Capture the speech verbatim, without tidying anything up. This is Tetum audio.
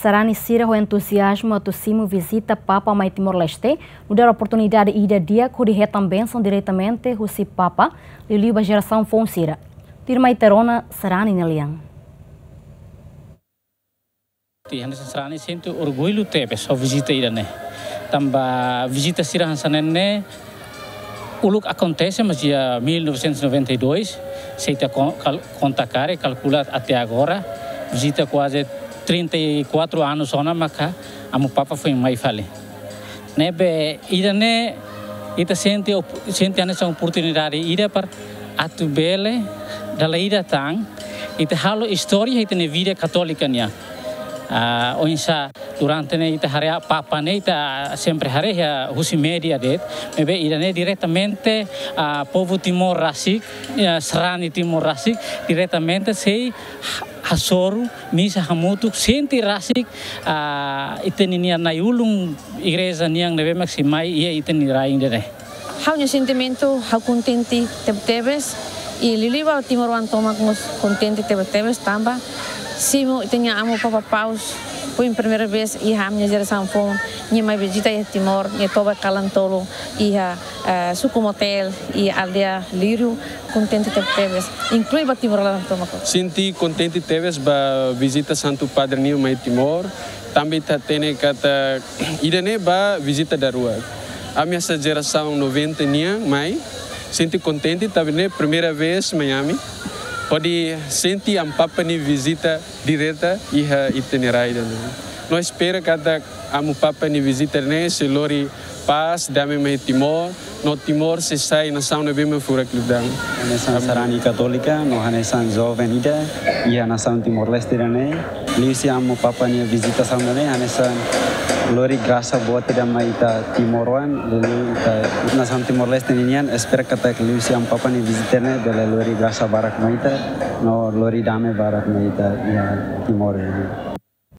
sarani sira ho entuziazmu atu simu vizita Papa mai Timor-Leste, nu'udar oportunidade ida di'ak hodi hetan bensaun diretamente husi Papa, liuliu ba jerasaun foun sira. Tuirmai Terona sarani nia lian. Tiha ne'e sarani sente orgullu tebes ho vizita ida-ne'e. Tanba vizita sira hanesan ne'e uluk akontese, mas iha mil novecentos e noventa e dois, se ita kon-, kal-, konta karik, kalkula até agora, vizita kuaze trinta e quatro anos ona maka Amu Papa foin mai fali. Ne'ebé ida-ne'e ita sente op-, sente hanesan oportunidade ida para atu bele dala ida tan ita halo istória ita-nia vida katólika nian. Ah, oinsá durante ne'e ita haree Papa ne'e ita sempre haree iha husi média de'it, maibé ida-ne'e diretamente, ah, povu Timor rasik, ah, sarani Timor rasik, diretamente sei ha-, hasoru misa hamutuk, sente rasik, ah, ita-nia nai-ulun igreja nian ne'ebé mak sei mai iha ita-nia rai ida-ne'e. Ha'u-nia sentimentu, ha'u kontente teb-, tebes, i liuliu ba timoroan tomak mós kontente tebes-tebes tanba simu ita-nia Amu Papa Paus, foin primeira vez iha ami-nia jerasaun foun, nia mai vizita iha Timor, nia toba kalan-tolu iha, eh, suku Motael, iha aldeia Lírio, kontente tebes-tebes, inklui ba timoroan tomak. Sente kontente tebes ba vizita Santu Padre nian mai Timor, tanba ita hatene katak ida-ne'e ba vizita daruak. Ami hanesan jerasaun noventa nian mai, sente kontente, tanba ne'e primeira vez mai ami, hodi sente Amu Papa nia vizita direta iha ita-nia rai ida-ne'e. No espera katak Amu Papa nia vizita ne'e sei lori pás, dame mai Timor, no Timor sei sai nasaun ne'ebé mak furak liután. Hanesan sarani katólika, no hanesan joven ida iha nasaun Timor-Leste ida-ne'e, liuhusi Amu Papa nia vizitasaun ida-ne'e, hanesan lori grasa boot ida mai ita timoroan, liuliu ita nasaun Timor-Leste ninian, espera katak liuhusi Amu Papa nia vizita ne'e bele lori grasa barak mai ita, no lori dame barak mai ita iha Timor ida-ne'e.